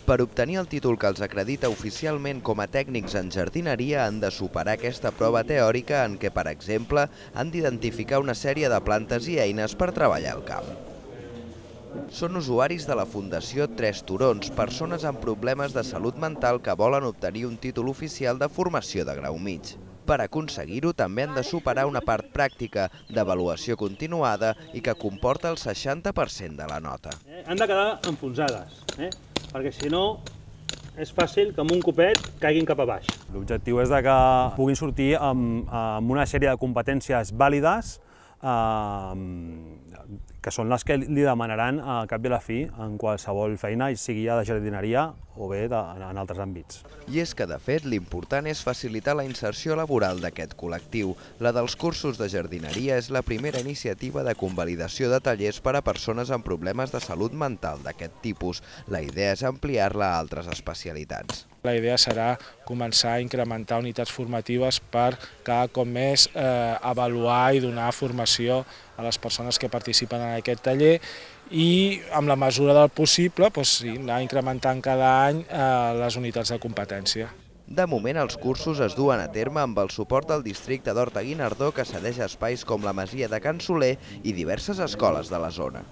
Per obtenir el títol que els acredita oficialment com a tècnics en jardineria han de superar aquesta prova teòrica en què, per exemple, han d'identificar una sèrie de plantes i eines per treballar al camp. Són usuaris de la Fundació Tres Turons, persones amb problemes de salut mental que volen obtenir un títol oficial de formació de grau mig. Per aconseguir-ho també han de superar una part pràctica d'avaluació continuada i que comporta el 60% de la nota. Han de quedar enfonsades, perquè si no és fàcil que amb un copet caiguin cap a baix. L'objectiu és que puguin sortir amb una sèrie de competències vàlides que són les que li demanaran al cap i a la fi en qualsevol feina, sigui ja de jardineria o bé en altres àmbits. I és que, de fet, l'important és facilitar la inserció laboral d'aquest col·lectiu. La dels cursos de jardineria és la primera iniciativa de convalidació de tallers per a persones amb problemes de salut mental d'aquest tipus. La idea és ampliar-la a altres especialitats. La idea serà començar a incrementar unitats formatives per cada cop més avaluar i donar formació a les persones que participen en aquest taller i, amb la mesura del possible, anar incrementant cada any les unitats de competència. De moment, els cursos es duen a terme amb el suport del districte d'Horta-Guinardó, que cedeix espais com la masia de Can Soler i diverses escoles de la zona.